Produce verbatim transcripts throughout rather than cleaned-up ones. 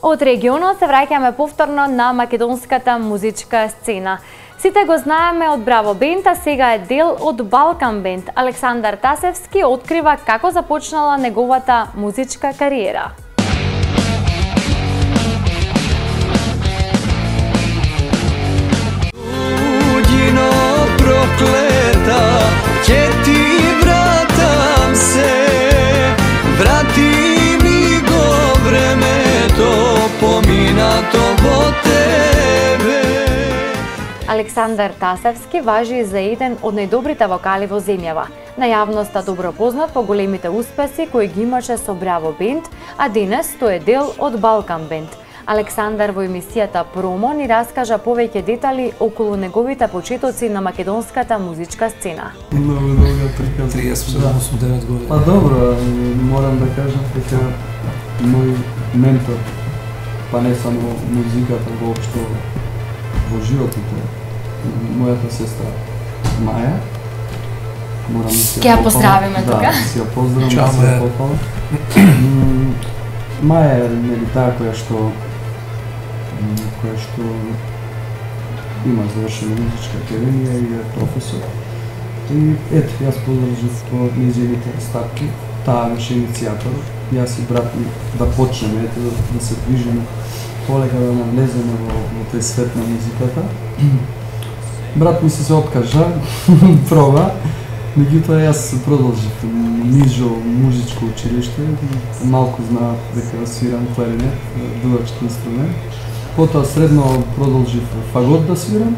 Од регионот се враќаме повторно на македонската музичка сцена. Сите го знаеме од Браво Бенд, а сега е дел од Балкан Бенд. Александар Тасевски открива како започнала неговата музичка кариера. Уđino prokleta, ќе ти вратам се, врати ми го времето, поминато во тебе. Александар Тасевски важи за еден од најдобрите вокали во земјава. На јавноста добро познат по големите успеси кои ги имаше со Браво Бенд, а денес тој е дел од Балкан Бенд. Александар во емисијата Промо ни раскажа повеќе детали околу неговите почетоци на македонската музичка сцена. Многу долга прика. триесет осум девет години. Па добро, морам да кажам дека мој ментор, па не само музиката, воопшто во животот, мојата сестра Маја. Морам да си ја поздравиме тука. Да, си ја поздравам, да си ја пофалам. Маја е нели таа која што која што има завршена музичка академија и е професор. И ето, јас подржав по нејзините стапки, таа беше иницијатор. Јас и брат ми да почнеме, ето, да, да се движиме полека, да навлеземе во, во тој свет на музиката. Брат ми се се откажа, проба, меѓутоа јас продолжив нижо музичко училиште, малку знаат дека свирам кларинет, дувачки инструмент. Потоа средно продолжив фагот да свирам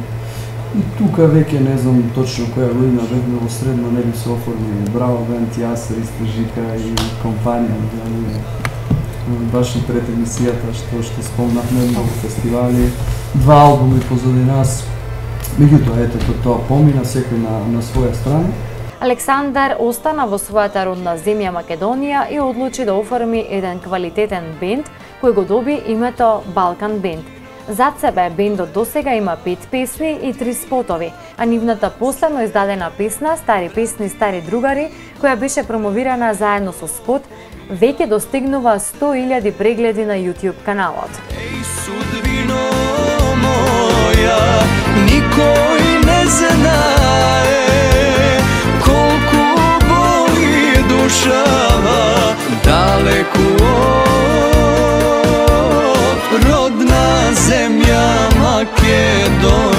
и тука веќе не знам точно која година бевме во средно, нели се оформи Браво Бенд, јас, Ристо Жика и компанија, баш и пред емисијата што што спомнавме многу фестивали, два албуми позади нас. Меѓутоа ето тоа помина секој на на своја страна. Александар остана во својата родна земја Македонија и одлучи да оформи еден квалитетен бенд кој го доби името Балкан Бенд. Зад себе бендот досега има пет песни и три спотови, а нивната последно издадена песна "Стари песни, стари другари", која беше промовирана заедно со спот, веќе достигнува сто илјади прегледи на YouTube каналот. Еј, судбино моја, никој не знае колку боли душава далеку од родна земја Македонија.